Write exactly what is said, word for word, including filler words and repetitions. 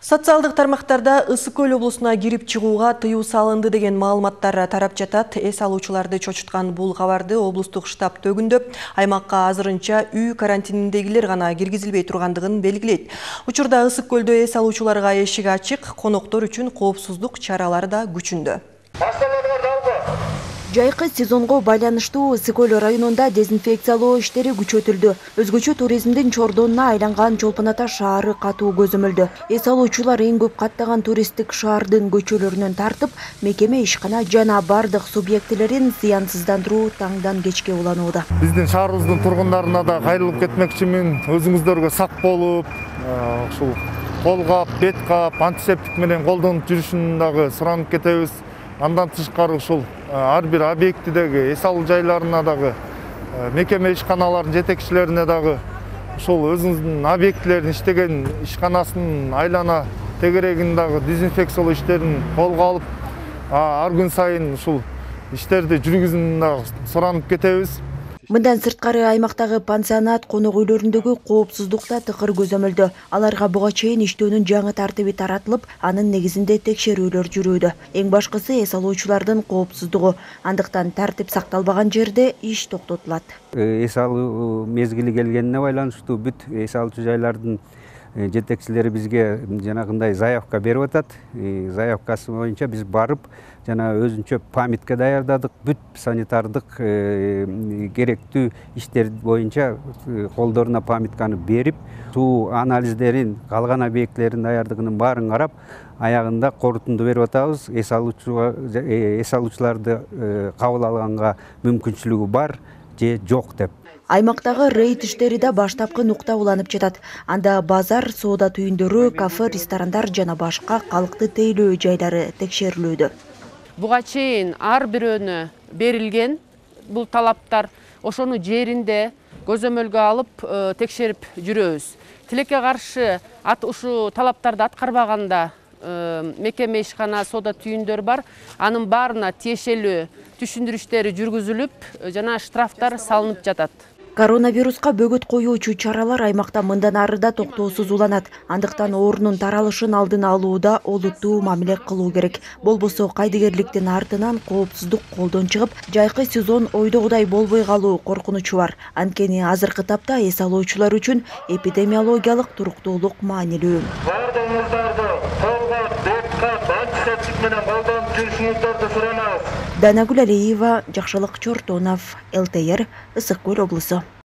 Социалдык тармактарда Ысык Көл облусуна кирип чыгууга тыюу салынды деген маалыматтар тарап жатат. Эс алуучуларды чочуткан бул кабарды облустук штаб төгүндөп, аймакка азырынча үй карантининдегилер гана киргизилбей тургандыгын белгилейт. Учурда Ысык Көлдө эс алуучуларга эшик ачык, коноктор үчүн коопсуздук чаралары да күчүндө. Жайкы сезонго байланыштуу Ысык Көл районунда дезинфекциялоо иштери күчөтүлдү. Өзгөчө туризмдин чордонуна айланган Чолпон Ата шаары катуу көзөмөлдө. Эс алуучулар эң көп каттаган туристтик шаардын көчөлөрүнөн тартып, мекеме, ишкана жана бардык субъектилерин зыянсыздандыруу таңдан кечке уланууда. Биздин шаарыбыздын тургундарына да кайрылып кетмекчимин. Өзүңүздөргө сак болуп, ушул кол кап, бет кап, антисептик менен колдонуп жүрүшүн дагы суранып кетебиз. Андан тышкары ушул ар бир объектидеги эс алуу жайларына дагы мекеме ишканалардын жетекчилерине дагы ушул өзүнүн объектилерин иштеген ишканасынын айлана тегерегин дагы дезинфекциялоо иштерин колго алып, ар күн сайын ушул иштерди жүргүзүүнү дагы суранып кетебиз. Мындан сырткары аймактагы пансионат, конок үйлөрүндөгү коопсуздук да тыкыр көзөмөлдө. Аларга буга чейин иштөөнүн жаңы тартиби таратылып, анын негизинде текшерүүлөр жүрүүдө. Эң башкысы эс алуучулардын коопсуздугу. Андыктан тартип сакталбаган жерде иш токтотулат. Эс алуу мезгили келгенине байланыштуу бүт эс алуучу жайлардын жетекчилери бизге жанагындай заявка берип атат. Заявкасы боюнча биз барып, жана өзүнчө памятка даярдадык. Бүт санитардык керектүү иштер боюнча колдоруна памятканы берип, суу анализдерин, калган объектилердин даярдыгынын баарын карап, аягында корутунду берип атабыз. Эс алуучуларды кабыл алганга мүмкүнчүлүгү бар же жок деп. Аймактагы рейд иштери да баштапкы нукта уланып жатат. Анда базар, соода түйүндөрү, кафе, ресторандар жана башка калкты тейлөө жайлары текшерилүүдө. Буга чейин ар бирөөнө берилген бул талаптар, ошону жеринде көзөмөлгө алып текшерип жүрөбүз. Тилекке каршы ушу талаптарды аткарбаганда мекеме, ишкана, соода түйүндөр бар. Анын баарына тиешелүү түшүндүрүштөр жүргүзүлүп, жана штрафтар салынып жатат. Коронавируска бөгөт коюучу чаралар аймакта мындан ары да токтоосуз уланат. Андыктан оорунун таралышын алдын алууда олуттуу мамиле кылуу керек. Болбосо кайдыгерликтин артынан коопсуздук колдон чыгып, жайкы сезон ойдогудай болбой калуу коркунучу бар. Анткени азыркы тапта эс алуучулар үчүн эпидемиологиялык туруктуулук маанилүү. Бардыгыңыздарды колго, бет кап, антисептик менен колдонуп жүрүшүңүздөрдү суранабыз. Данагүл Алиева, Жакшылык Чортонов, эл тэ эр, Ысык Көл облусу.